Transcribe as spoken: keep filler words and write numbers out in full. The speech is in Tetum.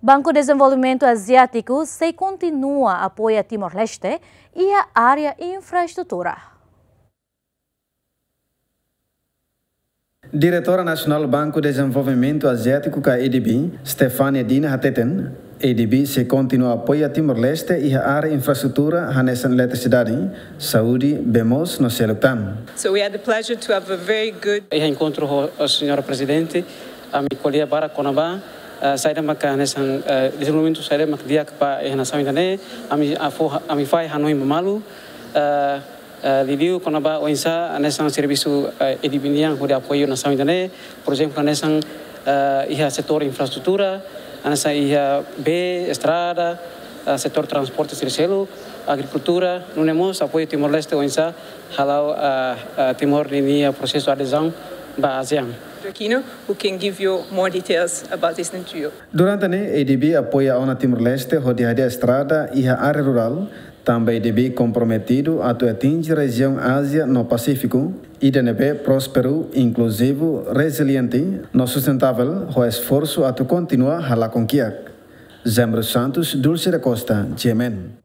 Banku Dezenvolvimentu Aziátiku sei kontinua apoia Timor-Leste iha área infraestrutura. Diretora Nasionál Banku Dezenvolvimentu Aziátiku ka A D B, Stefania Dina hateten, A D B sei kontinua apoia Timor-Leste iha área infraestrutura hanesan eletrisidade, saúde, bee moos no seluk tan. So we had the pleasure to have a very good Iha enkontru ho, ho Señora Prezidente, ami ko'alia barak kona-ba, eh, saida maka hanesan, eh, dezenvolvimentu saida maka di'ak ba iha nasaun ida-ne'e, ami afo, ami fahe hanoin ba malu, eh, eh, liuliu kona-ba oinsá hanesan servisu, eh, A D B nian hodi apoiu nasaun ida-ne'e, por ezemplu, hanesan, eh, iha setór infraestrutura, hanesan iha bee, estrada, eh, setór transporte sira seluk, agrikultura, nune'e mós apoiu Timor-Leste oinsá hala'o, eh, eh, Timor ninia prosesu adezaun ba ASEAN. Aquino, who can give you more details about this than you. Durante ne'e, A D B apoia ona Timor-Leste hodi hadi'a estrada iha área rurál, tanba A D B komprometidu atu atinje rejiaun Ázia no Pasífiku ida ne'ebé prósperu, inkluzivu, reziliente no sustentável, ho esforsu atu kontinua halakon kiak. Zembro Santos, Dulce da Costa, G M N.